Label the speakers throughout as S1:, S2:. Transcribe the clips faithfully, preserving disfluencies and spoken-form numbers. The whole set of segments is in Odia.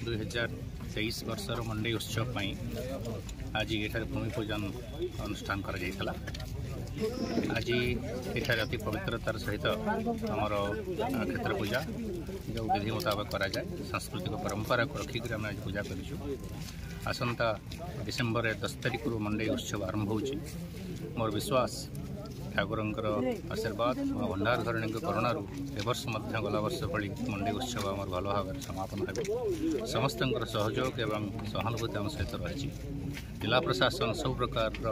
S1: ଦୁଇ ହଜାର ତେଇଶ ବର୍ଷର ମଣ୍ଡେଇ ଉତ୍ସବ ପାଇଁ ଆଜି ଏଠାରେ ଭୂମି ପୂଜନ ଅନୁଷ୍ଠାନ କରାଯାଇଥିଲା। ଆଜି ଏଠାରେ ଅତି ପବିତ୍ରତାର ସହିତ ଆମର କ୍ଷେତ୍ର ପୂଜା ଯେଉଁ ବିଧି ମୁତାବକ କରାଯାଏ, ସାଂସ୍କୃତିକ ପରମ୍ପରାକୁ ରଖିକରି ଆମେ ଆଜି ପୂଜା କରିଛୁ। ଆସନ୍ତା ଡିସେମ୍ବର ଦଶ ତାରିଖରୁ ମଣ୍ଡେଇ ଉତ୍ସବ ଆରମ୍ଭ ହେଉଛି। ମୋର ବିଶ୍ୱାସ, ଠାକୁରଙ୍କର ଆଶୀର୍ବାଦ, ମା ଭଣ୍ଡାର ଧରଣୀଙ୍କ କରୁଣାରୁ ଏ ବର୍ଷ ମଧ୍ୟ ଗଲା ବର୍ଷ ଭଳି ମଣ୍ଡେଇ ଉତ୍ସବ ଆମର ଭଲ ଭାବରେ ସମାପନ ହେବ। ସମସ୍ତଙ୍କର ସହଯୋଗ ଏବଂ ସହାନୁଭୂତି ଆମ ସହିତ ରହିଛି। ଜିଲ୍ଲା ପ୍ରଶାସନ ସବୁ ପ୍ରକାରର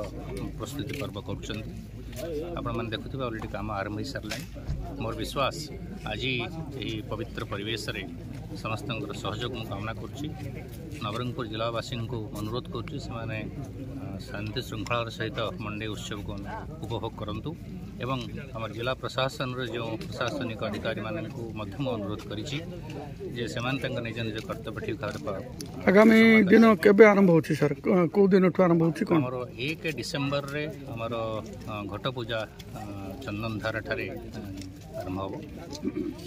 S1: ପ୍ରସ୍ତୁତି ପର୍ବ କରୁଛନ୍ତି। ଆପଣମାନେ ଦେଖୁଥିବେ, ଅଲରେଡ଼ି କାମ ଆରମ୍ଭ ହୋଇସାରିଲାଣି। ମୋର ବିଶ୍ୱାସ, ଆଜି ଏହି ପବିତ୍ର ପରିବେଶରେ ସମସ୍ତଙ୍କର ସହଯୋଗ ମୁଁ କାମନା କରୁଛି। ନବରଙ୍ଗପୁର ଜିଲ୍ଲାବାସୀଙ୍କୁ ଅନୁରୋଧ କରୁଛି, ସେମାନେ ଶାନ୍ତି ଶୃଙ୍ଖଳାର ସହିତ ମଣ୍ଡେଇ ଉତ୍ସବକୁ ଉପଭୋଗ କରନ୍ତୁ ଏବଂ ଆମର ଜିଲ୍ଲା ପ୍ରଶାସନର ଯେଉଁ ପ୍ରଶାସନିକ ଅଧିକାରୀମାନଙ୍କୁ ମଧ୍ୟ ମୁଁ ଅନୁରୋଧ କରିଛି ଯେ ସେମାନେ ତାଙ୍କ ନିଜ ନିଜ କର୍ତ୍ତବ୍ୟ ଠିକ୍ ଭାବରେ।
S2: ଆଗାମୀ ଦିନ କେବେ ଆରମ୍ଭ ହେଉଛି ସାର୍? କେଉଁ ଦିନଠୁ ଆରମ୍ଭ ହେଉଛି କ'ଣ?
S1: ଆମର ଏକ ଡିସେମ୍ବରରେ ଆମର ଘଟ ପୂଜା ଚନ୍ଦନଧାରା ଠାରେ ଆରମ୍ଭ ହେବ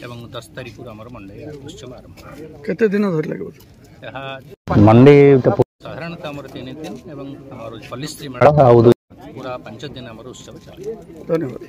S1: ଏବଂ ଦଶ ତାରିଖରୁ ଆମର ମଣ୍ଡେଇ ଉତ୍ସବ ଆରମ୍ଭ ହେବ।
S2: କେତେ ଦିନ ଧରି ଲାଗିବ
S1: ଏହା? ମଣ୍ଡେଇ ସାଧାରଣତଃ ଆମର ତିନି ଦିନ ଏବଂ ଆମର ପଲ୍ଲୀଶ୍ରୀ ମେଳା ଆଉ ପୁରା ପାଞ୍ଚ ଦିନ ଆମର ଉତ୍ସବ ଚାଲେ।
S2: ଧନ୍ୟବାଦ।